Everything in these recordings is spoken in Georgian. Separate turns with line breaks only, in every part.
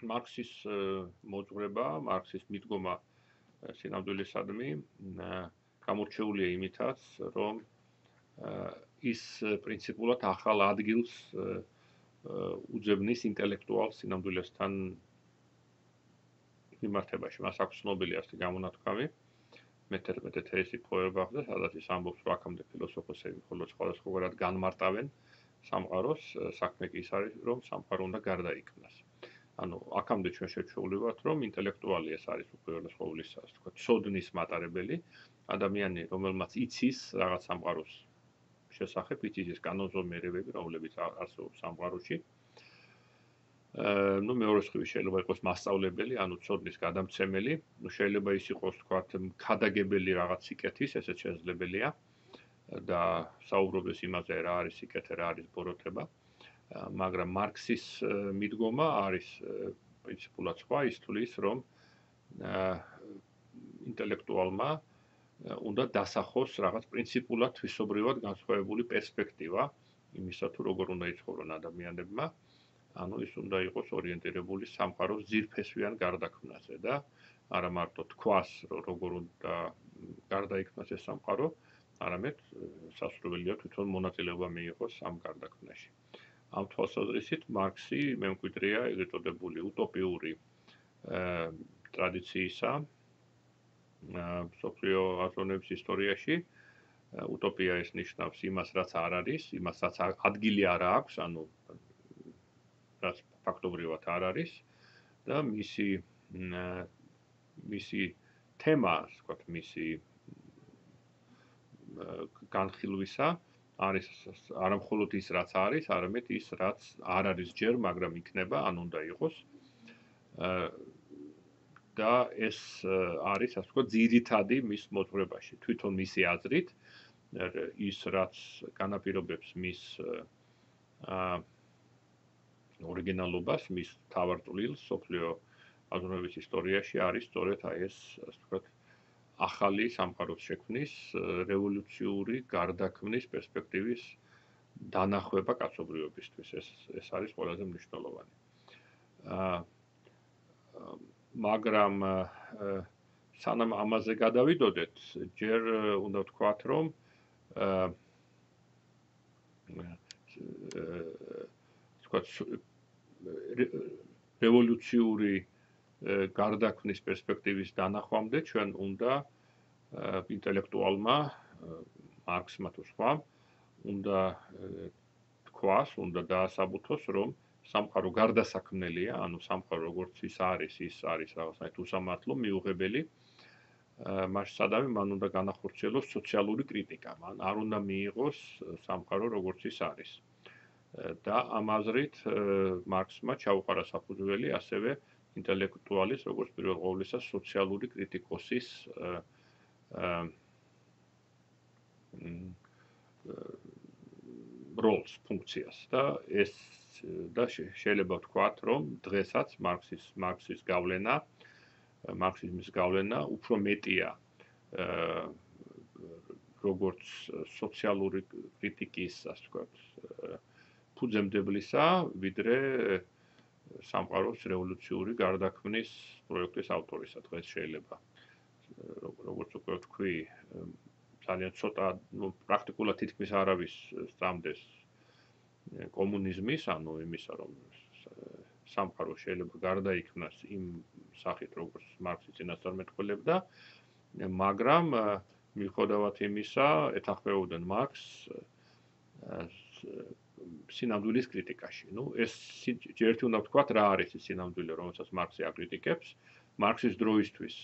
მარქსის მოძღვრება, მარქსის მიდგომა სინამდვილესადმი გამორჩეულია იმითაც, რომ ის პრინციპულად ახალ ადგილს უძებნის ინტელექტუალ სინამდვილესთან მიმართებაში. მას აქვს ცნობილი ასეთი გამონათქვამი. მე-11 თეესი პოებახზე, სადაც ის ამბობს, რომ აქამდე ფილოსოფოსები მხოლოდ სხვადასხვაგვარად განმარტავენ სამყაროს, საქმე კი ის არის, რომ სამყარო უნდა გარდაიქმნას. ანუ აქამდე ჩვენ შევჩვეულებათ, რომ ინტელექტუალი ეს არის უპირველეს ყოვლისა, ასე ვთქვათ, ცოდნის მატარებელი, ადამიანი, რომელმაც იცის რაღაც სამყაროს შესახებ, იცის ის კანონზომიერებები, რომლებიც არსებობს სამყაროში. მეორე მხრივ შეიძლება იყოს მასწავლებელი, ანუ ცოდნის გადამცემელი, შეიძლება ის იყოს, ვთქვათ, ქადაგებელი რაღაც სიკეთის, ესეც შესაძლებელია და საუბრობდეს იმაზე, რა არის სიკეთე, რა არის ბოროტება. მაგრამ მარქსის მიდგომა არის პრინციპულად სხვა, ის თვლის, რომ ინტელექტუალმა უნდა დასახოს რაღაც პრინციპულად თვისობრივად განსხვავებული პერსპექტივა იმისა, თუ როგორ უნდა იცხოვრონ ადამიანებმა. ანუ ის უნდა იყოს ორიენტირებული სამყაროს ძირფესვიან გარდაქმნაზე და არა მარტო თქვას, რომ როგორ უნდა გარდაიქმნას ეს სამყარო, არამედ სასურველია თვითონ მონაწილეობა მიიღოს ამ გარდაქმნაში. ამ თვალსაზრისით მარქსი მემკვიდრეა ეგრეთ წოდებული утоპიური ტრადიციისა მსოფლიო აზროვნების ისტორიაში. утоპია ეს ნიშნავს იმას, რაც არ არის, იმას, რაც ადგილი არ აქვს, ანუ რაც ფაქტობრივად არ არის და მისი თემა, ვთქვათ, მისი განხილვისა არის არა მხოლოდ ის, რაც არის, არამედ ის, რაც არ არის ჯერ, მაგრამ იქნება, ან უნდა იყოს. და ეს არის, ასე ვთქვათ, ძირითადი მის მოძღვრებაში. თვითონ მისი აზრით, ის, რაც განაპირობებს მის ორიგინალობას, მის მთავარ წვლილს მსოფლიო აზროვნების ისტორიაში არის სწორედ ეს, ასე ვთქვათ, ახალი სამყაროს შექმნის, რევოლუციური გარდაქმნის პერსპექტივის დანახვება კაცობრიობისთვის. ეს არის ყველაზე მნიშვნელოვანი. მაგრამ სანამ ამაზე გადავიდოდეთ, ჯერ უნდა ვთქვათ, რომ რევოლუციური გარდაქმნის პერსპექტივის დანახვამდე ჩვენ უნდა ინტელექტუალმა მარქსმა თუ სხვამ უნდა თქვას, უნდა დაასაბუთოს, რომ სამყარო გარდასაქმნელია, ანუ სამყარო როგორც ის არის რაღაცნაირად უსამართლო, მიუღებელი. მაშინ სადავე მან უნდა განახორციელოს სოციალური კრიტიკა, მან არ უნდა მიიღოს სამყარო როგორც ის არის. და ამ აზრით მარქსმა ჩაუყარა საფუძველი ასევე ინტელექტუალის, როგორც პირველ ყოვლისა სოციალური კრიტიკოსის როლს, ფუნქციას და ეს და შეიძლება ვთქვათ, რომ დღესაც მარქსის გავლენა, მარქსიზმის გავლენა უფრო მეტია როგორც სოციალური კრიტიკის, ასე ვთქვათ, ფუძემდებლისა, ვიდრე სამყაროს რევოლუციური გარდაქმნის პროექტის ავტორისა. დღეს შეიძლება როგორც უკვე ვთქვი, ძალიან ცოტა, პრაქტიკულად თითქმის არავის სწამდეს კომუნიზმის, ანუ იმისა, რომ სამყარო შეიძლება გარდაიქმნას იმ სახით, როგორც მარქსი წინასწარმეტყველებდა, მაგრამ მიუხედავად იმისა, ეთანხმებოდნენ მარქსს სინამდვილის კრიტიკაში. ეს ერთი უნდა ვთქვათ, რა არის ეს სინამდვილე, რომელსაც მარქსი აკრიტიკებს. მარქსის დროისთვის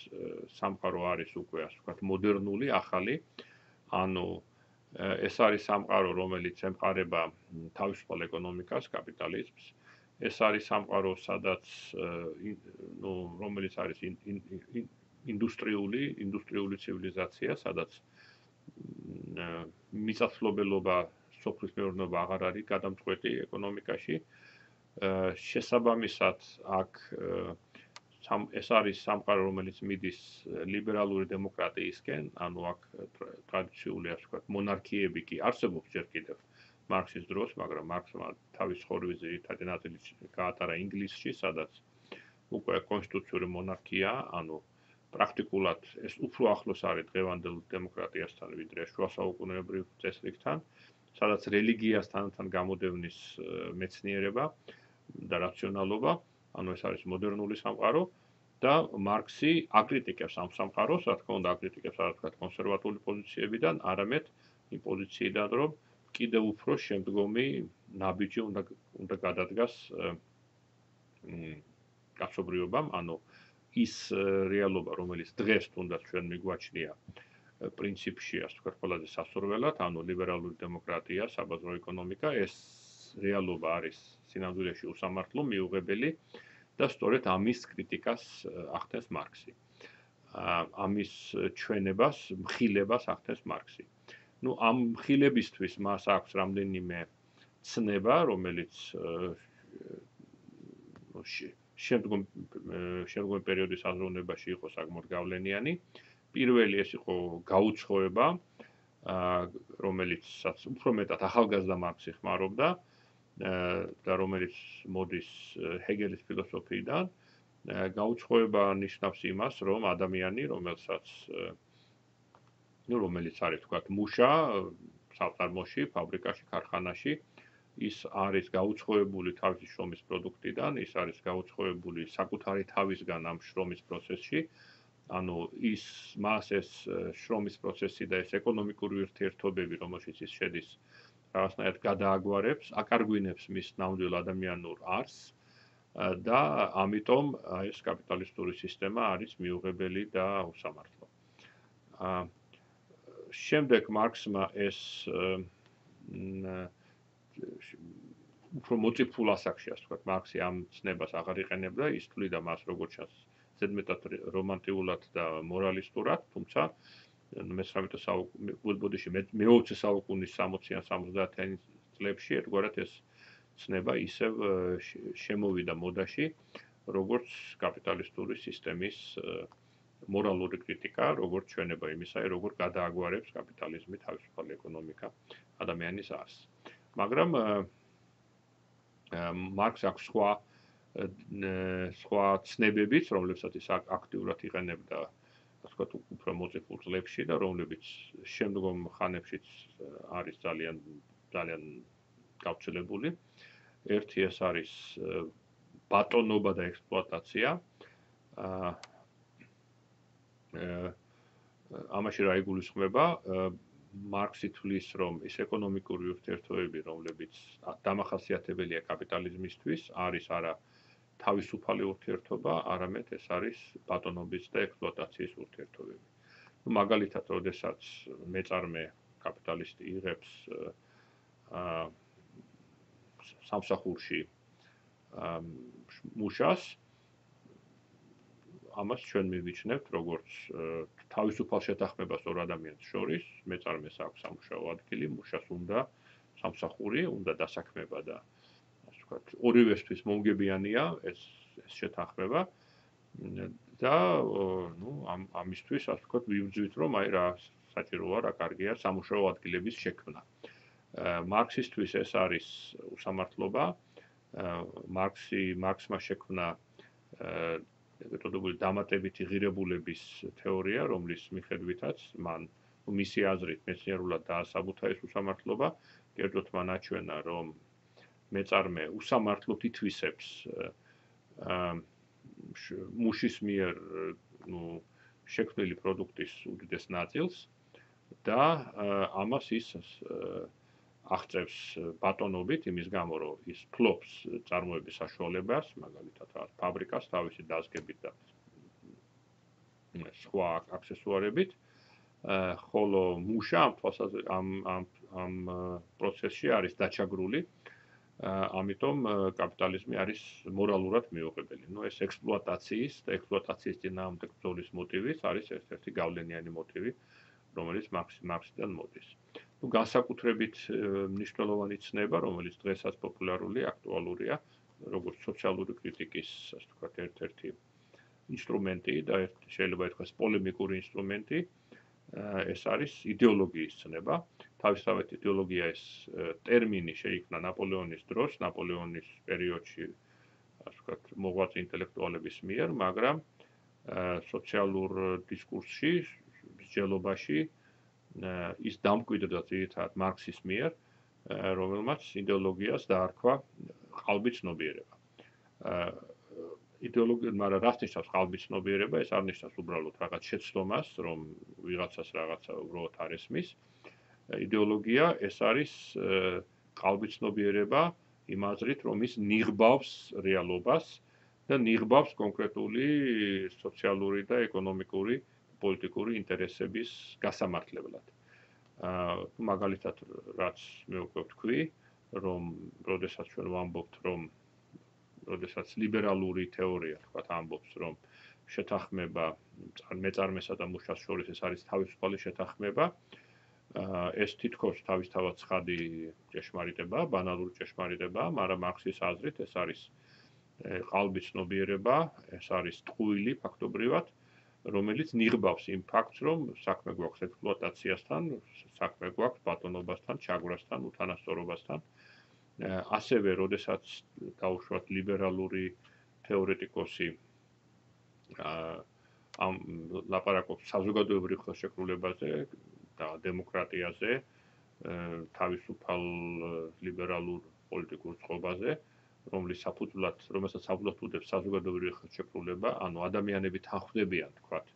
სამყარო არის უკვე, ასე ვთქვათ, მოდერნული, ახალი. ანუ ეს არის სამყარო, რომელიც ემყარება თავისუფალ ეკონომიკას, კაპიტალიზმს. ეს არის სამყარო, სადაც რომელიც არის ინდუსტრიული ცივილიზაცია, სადაც მიწათმფლობელობა, სოფლის მეურნეობა აღარ არის გადამწყვეტი ეკონომიკაში. შესაბამისად, აქ ეს არის სამყარო, რომელიც მიდის ლიბერალური დემოკრატიისკენ, ანუ აქ ტრადიციული, ასე ვთქვათ, მონარქიები კი არსებობს ჯერ კიდევ, მარქსის დროს, მაგრამ მარქსმა თავის ცხოვრების ძირითადი ნაწილი გაატარა ინგლისში, სადაც უკვე კონსტიტუციური მონარქია, ანუ პრაქტიკულად ეს უფრო ახლოს არის დღევანდელ დემოკრატიასთან, ვიდრე შუა საუკუნეებრივ წესრიგთან, სადაც რელიგიასთან გამოდევნის მეცნიერება და რაციონალობა, ანუ ეს არის მოდერნული სამყარო და მარქსი აკრიტიკებს ამ სამყაროს, რა თქმა უნდა, აკრიტიკებს რა თქმა უნდა კონსერვატული პოზიციებიდან, არამედ იმ პოზიციიდან, რომ კიდევ უფრო შემდგომი ნაბიჯი უნდა გადადგას კაცობრიობამ, ანუ ის რეალობა, რომელიც დღეს თუნდაც ჩვენ მიგვაჩნია პრინციპში, ასე ვთქვათ, ყველაზე სასურველად, ანუ ლიბერალური დემოკრატია, საბაზრო ეკონომიკა, ეს რეალობა არის სინამდვილეში უსამართლო, მიუღებელი და სწორედ ამის კრიტიკას ახდენს მარქსი. ამის ჩვენებას, მხილებას ახდენს მარქსი. ნუ ამ მხილებისთვის მას აქვს რამდენიმე ცნება, რომელიც შემდგომი პერიოდის აზროვნებაში იყო საკმაოდ გავლენიანი. პირველი ეს იყო გაუცხოება, რომელიცაც უფრო მეტად ახალგაზრდა მარქსი ხმარობდა და რომელიც მოდის ჰეგელის ფილოსოფიიდან. გაუცხოება ნიშნავს იმას, რომ ადამიანი, რომელიც არის თქვათ მუშა საფარმოში, ფაბრიკაში, ქარხანაში, ის არის გაუცხოებული თავისი შრომის პროდუქტიდან, ის არის გაუცხოებული საკუთარი თავისგან ამ შრომის პროცესში. ანუ მას ეს შრომის პროცესი და ეს ეკონომიკური ურთიერთობები, რომელშიც ის შედის, რაღაცნაირად გადააგვარებს, აკარგვინებს მის ნამდვილ ადამიანურ არსს და ამიტომ ეს კაპიტალისტური სისტემა არის მიუღებელი და უსამართლო. შემდეგ მარქსმა ეს უფრო მოწიფულ ასაკში, ასე ვთქვათ, მარქსი ამ ცნებას აღარ იყენებდა, ის თვლიდა მას როგორც ჩანს ზედმეტად რომანტიულად და მორალისტურად, თუმცა მე-19 საუკუნის 60-ან 70-იან წლებში ერთგვარად ეს ცნება ისევ შემოვიდა მოდაში, როგორც კაპიტალისტური სისტემის მორალური კრიტიკა, როგორც ჩვენება იმისა, როგორ გადააგვარებს კაპიტალიზმი თავისუფალი ეკონომიკა ადამიანის არსს. მაგრამ მარქსს აქვს სხვა ცნებებიც, რომლებსაც ის აქტიურად იყენებდა, ასე ვთქვათ, უფრო მოწიფულ წლებში და რომლებიც შემდგომ ხანებშიც არის ძალიან გავრცელებული. ერთი ეს არის ბატონობა და ექსპლუატაცია. ამაში რა იგულისხმება? მარქსი თვლის, რომ ის ეკონომიკური ურთიერთობები, რომლებიც დამახასიათებელია კაპიტალიზმისთვის, არის არა თავისუფალი ურთიერთობა, არამედ ეს არის ბატონობის და ექსპლუატაციის ურთიერთობები. მაგალითად, როდესაც მეწარმე კაპიტალისტი იღებს სამსახურში მუშას, ამას ჩვენ მივიჩნევთ როგორც თავისუფალ შეთანხმებას ორ ადამიანს შორის, მეწარმეს აქვს სამუშაო ადგილი, მუშას უნდა სამსახური, უნდა დასაქმება და ასე ვთქვათ, ორივესთვის მომგებიანია ეს შეთანხმება და ამისთვის ასე ვთქვათ, ვიბრძვით, რომ აი რა საჭიროა, რა კარგია სამუშაო ადგილების შექმნა. მარქსისთვის ეს არის უსამართლობა. მარქსმა შექმნა მეტოდებული დამატებითი ღირებულების თეორია, რომლის მიხედვითაც მან მისი აზრით მეცნიერულად დაასაბუთა ეს უსამართლობა, კერძოდ მან აჩვენა, რომ მეწარმე უსამართლოდ ითვისებს მუშის მიერ შექმნილი პროდუქტის უდიდეს ნაწილს და ამას ის აღწევს ბატონობით იმის გამო, რომ ის ფლობს წარმოების საშუალებას, მაგალითად, ფაბრიკას თავისი დაზგებით და სხვა აქსესუარებით, ხოლო მუშა ამ პროცესში არის დაჩაგრული, ამიტომ კაპიტალიზმი არის მორალურად მიუღებელი. ეს ექსპლუატაციის და ექსპლუატაციის წინააღმდეგ ბრძოლის მოტივიც არის ერთ-ერთი გავლენიანი მოტივი, რომელიც მარქსიდან მოდის. განსაკუთრებით მნიშვნელოვანი ცნება, რომელიც დღესაც პოპულარული, აქტუალურია, როგორც სოციალური კრიტიკის, ასე ვთქვათ, ერთ-ერთი ინსტრუმენტი და შეიძლება ითქვას პოლემიკური ინსტრუმენტი, ეს არის იდეოლოგიის ცნება. თავისთავად იდეოლოგია ეს ტერმინი შეიქმნა ნაპოლეონის დროს, ნაპოლეონის პერიოდში, ასე ვთქვათ, მოღვაწე ინტელექტუალების მიერ, მაგრამ სოციალურ დისკურსში, მსჯელობაში ის დამკვიდრდა ძირითადად მარქსის მიერ, რომელმაც იდეოლოგიას დაარქვა ყალბი ცნობიერება. იდეოლოგია, მაგრამ რაც ნიშნავს ყალბი ცნობიერება, ეს არ ნიშნავს უბრალოდ რაღაც შეცდომას, რომ ვიღაცას რაღაცა უბრალოდ არ ესმის. იდეოლოგია ეს არის ყალბი ცნობიერება იმ აზრით, რომ ის ნიღბავს რეალობას და ნიღბავს კონკრეტული სოციალური და ეკონომიკური, პოლიტიკური ინტერესების გასამართლებლად. მაგალითად, რაც მე უკვე ვთქვი, რომ როდესაც ჩვენ ვამბობთ, რომ როდესაც ლიბერალური თეორია, თქვათ, ამბობს, რომ შეთანხმება მეწარმესა და მუშას შორის ეს არის თავისუფალი შეთანხმება, ეს თითქოს თავისთავად ცხადი ჭეშმარიტებაა, ბანალური ჭეშმარიტებაა, მაგრამ მარქსის აზრით ეს არის ყალბი ცნობიერება, ეს არის ტყუილი ფაქტობრივად, რომელიც ნიღბავს იმ ფაქტს, რომ საქმე გვაქვს ექსპლუატაციასთან, საქმე გვაქვს ბატონობასთან, ჩაგვრასთან, უთანასწორობასთან. ასევე, როდესაც დაუშვათ ლიბერალური თეორეტიკოსი ამ ლაპარაკობს საზოგადოებრივ ხელშეკრულებაზე და დემოკრატიაზე, თავისუფალ ლიბერალურ პოლიტიკურ წყობაზე, რომელსაც საფუძვლად უდევს საზოგადოებრივი ხელშეკრულება, ანუ ადამიანები თანხმდებიან, თქვათ,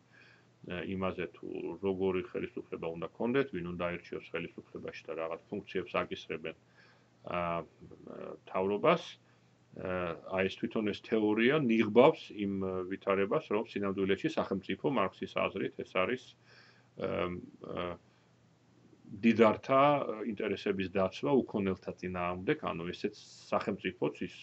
იმაზე თუ როგორი ხელისუფლება უნდა ქონდეთ, ვინ უნდა აირჩიოს ხელისუფლებაში და რაღაც ფუნქციებს აკისრებენ თავრობას, აი ეს თვითონ ეს თეორია ნიღბავს იმ ვითარებას, რომ სინამდვილეში სახელმწიფო მარქსის აზრით ეს არის დიდართა ინტერესების დაცვა უქონელთა წინააღმდეგ, ანუ ესეც სახელმწიფოც ის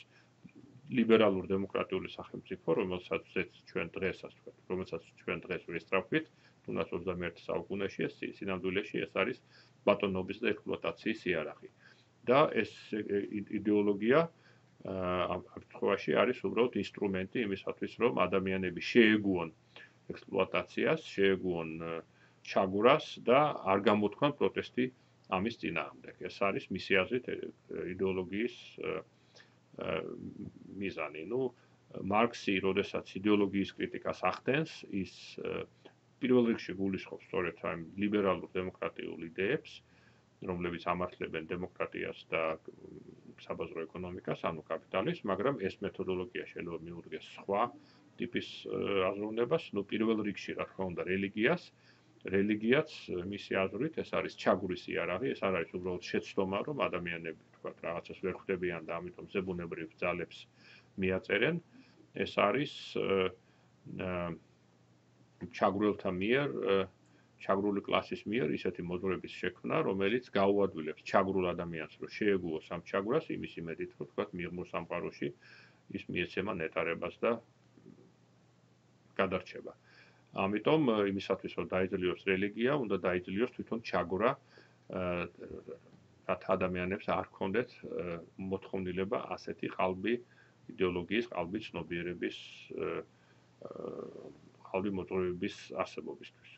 ლიბერალურ დემოკრატიული სახელმწიფო, რომელსაც ჩვენ დღეს ვესწრაფვით, თუნდაც 21 საუკუნეში ეს სინამდვილეში ეს არის ბატონობის და ექსპლუატაციის იარაღი. და ეს იდეოლოგია ამ შემთხვევაში არის უბრალოდ ინსტრუმენტი იმისათვის, რომ ადამიანები შეეგუონ ექსპლუატაციას, შეეგუონ ჩაგვრას და არ გამოთქვან პროტესტი ამის წინააღმდეგ. ეს არის მისი აზრით იდეოლოგიის მიზანი. მარქსი, როდესაც იდეოლოგიის კრიტიკას ახდენს, ის პირველ რიგში გულისხმობს სწორედ ამ ლიბერალურ დემოკრატიულ იდეებს, რომლებიც ამართლებენ დემოკრატიას და საბაზრო ეკონომიკას, ანუ კაპიტალიზმს, მაგრამ ეს მეთოდოლოგია შეიძლება მიუდგეს სხვა ტიპის აზროვნებას, პირველ რიგში, რა თქმა უნდა, რელიგიას. რელიგიაც მისი აზრით ეს არის ჩაგვრის იარაღი, ეს არ არის უბრალოდ შეცდომა, რომ ადამიანები, თქვათ, რაღაცას ვერ ხვდებიან და ამიტომ ზებუნებრივ ძალებს მიაწერენ. ეს არის ჩაგვრელთა მიერ ჩაგრული კლასის მიერ ისეთი მოძღვრების შექმნა, რომელიც გაუადვილებს ჩაგრულ ადამიანს, რომ შეეგუოს ამ ჩაგვრას, იმის იმედით, რომ თქვათ, მიღმო სამყაროში ის მიეცემა ნეტარებას და გადარჩება. ამიტომ იმისათვის, რომ დაიძლიოს რელიგია, უნდა დაიძლიოს თვითონ ჩაგვრა, რათა ადამიანებს არ ჰქონდეთ მოთხოვნილება ასეთი ყალბი იდეოლოგიის, ყალბი ცნობიერების, ყალბი მოძღვრების არსებობისთვის.